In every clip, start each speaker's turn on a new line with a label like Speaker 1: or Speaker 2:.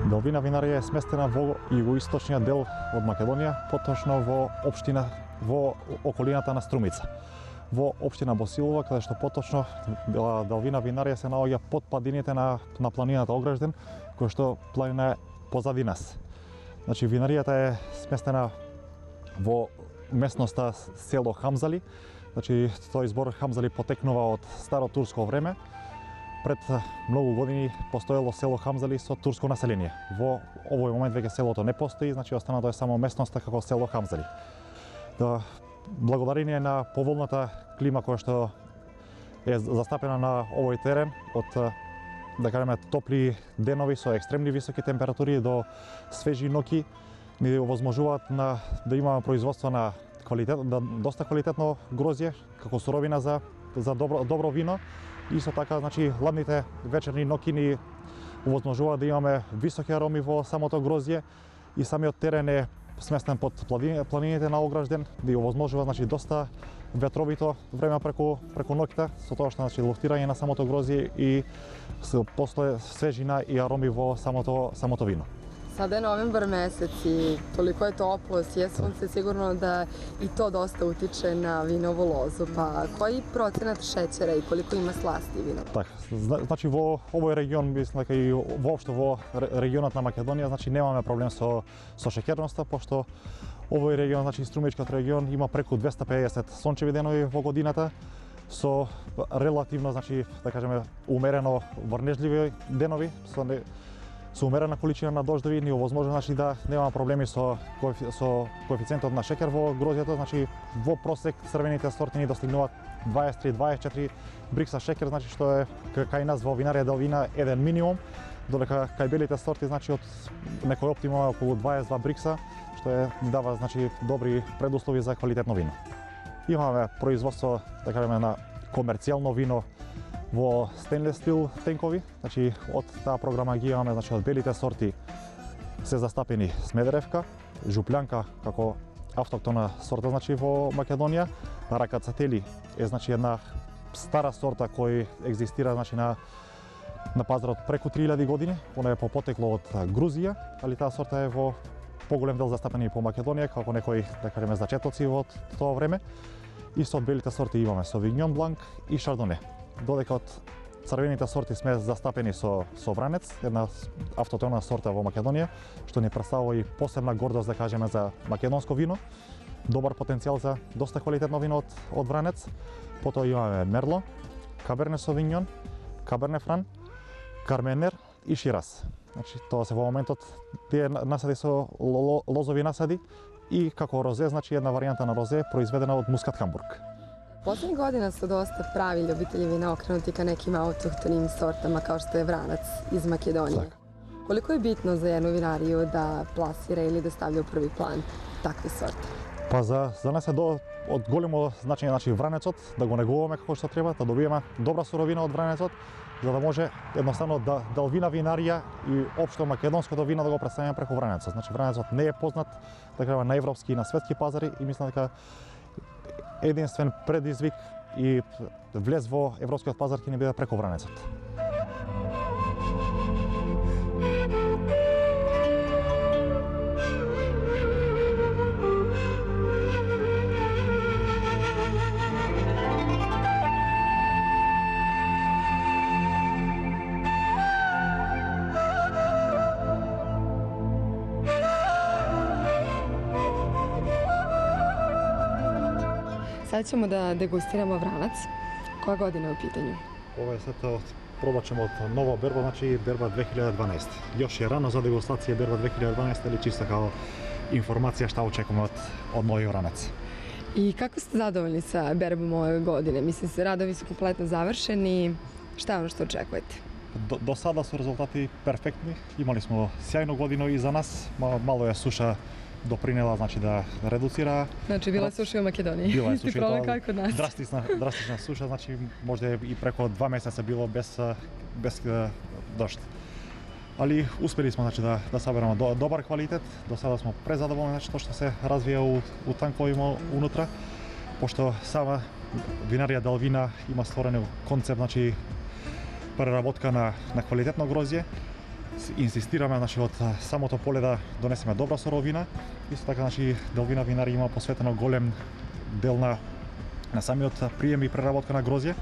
Speaker 1: Делвина винарија е сместена во југоисточниот дел од Македонија, поточно во општина во околината на Струмица. Во општина Босилова, каде што поточно Делвина винарија се наоѓа под падините на планината Огражден, која што планина е позади нас. Значи винаријата е сместена во местноста село Хамзали. Значи тој збор Хамзали потекнува од старо турско време. Пред многу години постоело село Хамзали со турско население. Во овој момент веќе селото не постои, значи останато е само местноста како село Хамзали. Благодарение на поволната клима која што е застапена на овој терен, од да кажеме топли денови со екстремни високи температури до свежи ноќи, ни овозможуваат да имаме производство на доста квалитетно грозје како суровина за добро вино. Исто така, значи, ладните вечерни ноќи ни овозможуваат да имаме високи ароми во самото грозје и самиот терен е сместен под планините на Огражден, да овозможува, значи, доста ветровито време преку ноќта, со тоа што, значи, луфтирање на самото грозје и после свежина и ароми во самото вино.
Speaker 2: Sada je novembar mesec i toliko je toplo, sije sunce, sigurno da i to dosta utiče na vinovu lozu. Pa koji procenat šećera i koliko ima slasti vino?
Speaker 1: Так, значи во овој регион, мислам дека и воопшто во регионот на Македонија, значи немаме проблем со шеќерноста, пошто овој регион, значи Струмичкиот регион, има преку 250 сончеви денови во годината, со релативно, значи, да кажеме, умерено врнежливи денови, со умерена количина на дождови, ни овозможува, значи, да нема проблеми со коефициентот на шеќер во грозјето, значи во просек црвените сорти ни достигнуваат 23-24 брикса шеќер, значи што е кај нас во винарија Делвина еден минимум, додека кај белите сорти, значи од некој оптимум околу 22 брикса, што ни дава, значи, добри предуслови за квалитетно вино. Имаме производство, да кажеме, на комерцијално вино во стенлес стил тенкови, значи од таа програма ги имаме, значи од белите сорти се застапени Смедеревка, Жуплјанка како автоктона сорта, значи во Македонија, Ракацатели е, значи, една стара сорта кој екзистира, значи, на пазарот преку 3000 години, она е потекло од Грузија, али таа сорта е во поголем дел застапени по Македонија како некои, да кажеме, зачетоци во тоа време. Исто од белите сорти имаме Совигнон Бланк и Шардоне. Додека од црвените сорти сме застапени со Вранец, една автотона сорта во Македонија, што ни представува и посебна гордост, да кажеме, за македонско вино. Добар потенцијал за доста квалитетно вино од Вранец. Потоа имаме Мерло, Каберне Совигнон, Каберне Фран, Карменер и Шираз. Значи, тоа се во моментот тие насади со лозови насади и како розе, значи една варијанта на розе произведена од Мускат Хамбург.
Speaker 2: Poslednjih godina su dosta pravi ljubitelji vina okrenuti ka nekim autohtonim sortama kao što je Vranac iz Makedonije. Koliko je bitno za jednu vinariju da plasira ili da stavlja u prvi plan takve sorte?
Speaker 1: Па за нас е од големо значење, значи, Вранецот, да го негуваме како што треба, да добиеме добра суровина од Вранецот, за да може едноставно Делвина винарија и општо македонското вино да го представиме преку Вранецот. Значи Вранецот не е познат, да кажеме, на европски и на светски пазари и мислам дека единствен предизвик и влез во европскиот пазар ќе ни биде преку Вранецот.
Speaker 2: Sad ćemo da degustiramo Vranac. Koja godina je u pitanju?
Speaker 1: Ова е сето пробачемо од нова берба, значи берба 2012. Још е рано за дегустација берба 2012, или чисто како информација што очекуваме од нови Вранец.
Speaker 2: I kako ste zadovoljni sa berbom ove godine? Mislim se, radovi su kompletno završeni. Šta je ono što očekujete?
Speaker 1: До сада се резултати перфектни. Имали смо сјајно година и за нас, мало е суша допринела значи да редуцира.
Speaker 2: Значи била суша у Македонија.
Speaker 1: Била е
Speaker 2: Исти
Speaker 1: суша,
Speaker 2: проблем како код нас.
Speaker 1: драстична суша, значи може и преку 2 месеца било без дожд. Али успели сме значи да собереме добар квалитет. До сега сме презадоволни значи тоа што се развија у танковима унутра, пошто сама винарија Делвина има створен концепт значи преработка на квалитетно грозје. Инсистираме значи од самото поле да донесеме добра суровина. Исто така значи Делвина винари има посветено голем дел на самиот прием и преработка на грозје.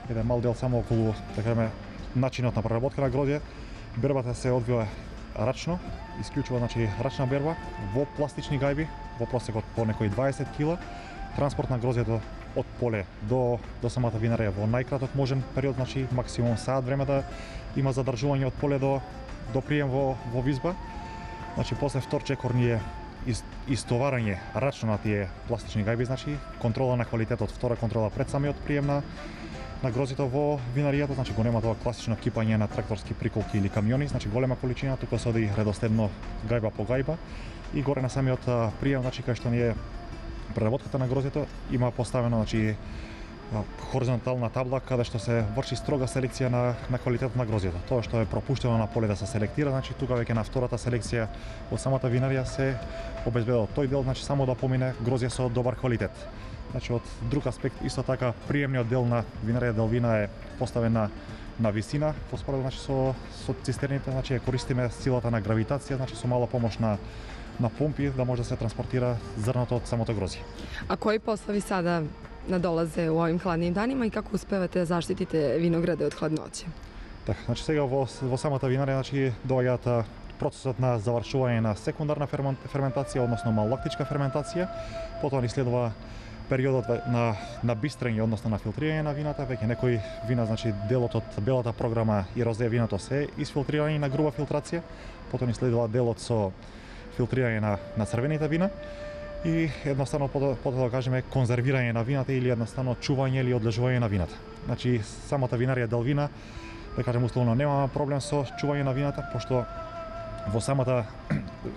Speaker 1: Еден мал дел само околу да кажеме начинот на преработка на грозје. Бербата се одвива рачно, исклучува значи рачна берба во пластични гајби, во просекот по некои 20 кг. Транспорт на грозјето од поле до самата винарија во најкраток можен период, значи максимум саат време да има задржување од поле до прием во визба. Значи после втор чекор ние истоварање рачно на тие пластични гајби, значи контрола на квалитетот, втора контрола пред самиот прием на грозито во винаријата, значи го нема тоа класично кипање на тракторски приколки или камиони, значи голема количина, тука се оди редоследно гајба по гајба и горе на самиот прием, значи кај што ние преработката на грозито има поставено значи хоризонтална табла каде што се врши строга селекција на квалитетот на грозито. Тоа што е пропуштено на поле да се селектира, значи тука веќе на втората селекција од самата винарија се обезбедува тој дел, значи само да помине грозје со добар квалитет. Значи од друг аспект исто така приемниот дел на винарија Делвина е поставен на висина, поспоредно значи со цистерните, значи користиме силата на гравитација, значи со мала помош на помпи да може да се транспортира зрното од самото грозје.
Speaker 2: А кои послови сада надолазе у овим хладним данима и како успевате да заштитите винограде од хладноće?
Speaker 1: Така, значи сега во самата винарија значи доаѓаат процесот на завршување на секундарна ферментација, односно малолактичка ферментација, потоа ни следува периодот на бистрење, односно на филтрирање на вината. Веќе некои вина, значи делот од белата програма и розе виното се исфилтрирани на груба филтрација, потоа ни следува делот со филтрирање на црвените вина и едноставно потоа да кажеме конзервирање на вината или едноставно чување или одлежување на вината. Значи самата винарија Делвина, да кажем условно, немаме проблем со чување на вината, пошто во самата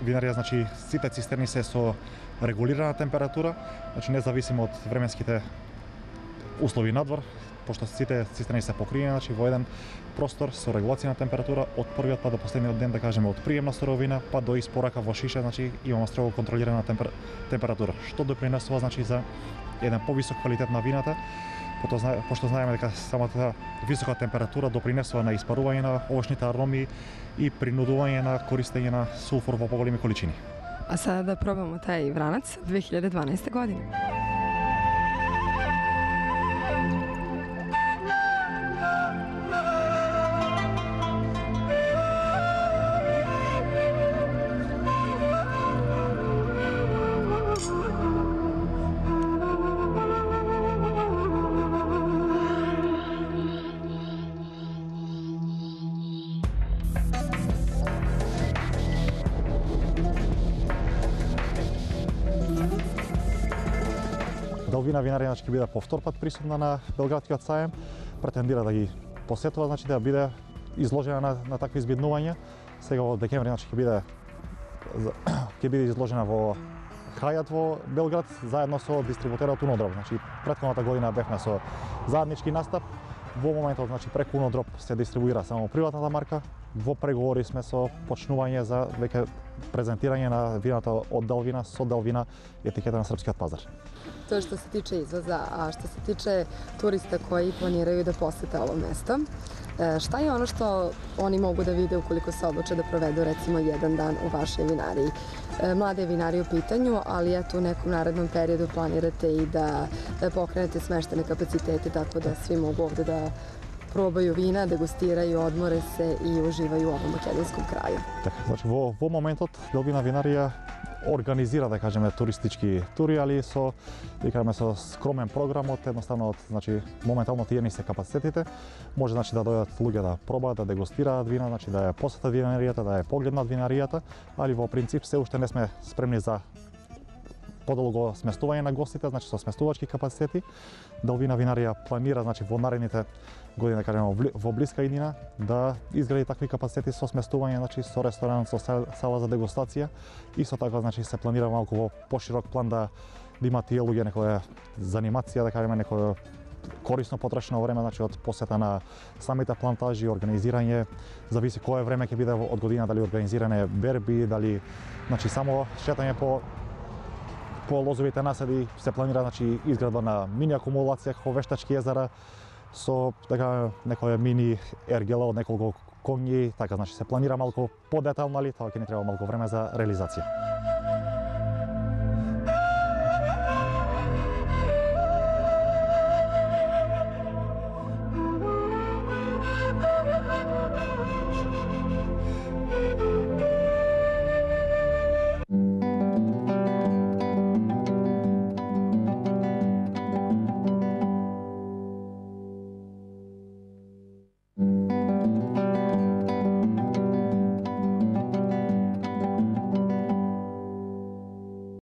Speaker 1: винарија значи сите цистерни се со регулирана температура, значи независимо од временските услови надвор, пошто сите цистерни се покриени значи во еден простор со регулација на температура од првиот па до последниот ден, да кажеме од прием на суровина па до испорака во шиша, значи имаме строго контролирана температура, што допринесува значи за еден повисок квалитет на вината, пошто знаеме дека самата висока температура допринесува на испарување на овошните ароми и принудување на користење на сулфур во поголеми количини.
Speaker 2: А sada da probamo taj vranac 2012. godine.
Speaker 1: Делвина винарија ќе биде по втор пат присутна на Белградскиот сајем, претендира да ги посетува, значи да биде изложена на такви избиднувања. Сега во декември значи ќе биде изложена во Хајат во Белград заедно со дистрибутерот Унодроп. Значи претходната година бевме со заеднички настап. Во моментот значи преку Унодроп се дистрибуира само приватната марка. Во преговори сме со почнување за веќе презентирање на вината од Делвина со Делвина етикета на српскиот пазар.
Speaker 2: To je što se tiče izvoza, a što se tiče turista koji planiraju da posete ovo mesto, šta je ono što oni mogu da vide ukoliko se odluče da provedu recimo jedan dan u vašoj vinariji? Mlade vinari u pitanju, ali eto u nekom narednom periodu planirate i da pokrenete smeštene kapacitete tako da svi mogu ovde da probaju vina, degustiraju, odmore se i uživaju u ovom makedonskom kraju.
Speaker 1: Така, значи во моментот Делвина винарија организира, да кажеме, туристички тури, али со скромен програмот, едноставно значи моментално тие ни се капацитетите. Може значи да дојдат луѓе да пробаат, да дегустираат вина, значи да ја посетат винаријата, да ја погледнат винаријата, али во принцип се уште не сме спремни за подолго сместување на гостите, значи со сместувачки капацитети. Делвина винарија планира, значи во наредните години, да кажеме во блиска иднина, да изгради такви капацитети со сместување, значи со ресторан, со сала за дегустација. Исто така, значи се планира малку во поширок план да има тие луѓе некоја занимација, да кажеме некоја корисно потрошено време, значи од посета на самите плантажи, организирање, зависи кое време ќе биде од година, дали организиране берби, дали значи само шетање по лозовите наседи, се планира значи изградба на мини акумулација како вештачки езера со така некоја мини ергела од неколку конји, така значи се планира малку подетално, али тоа ќе ни треба малку време за реализација.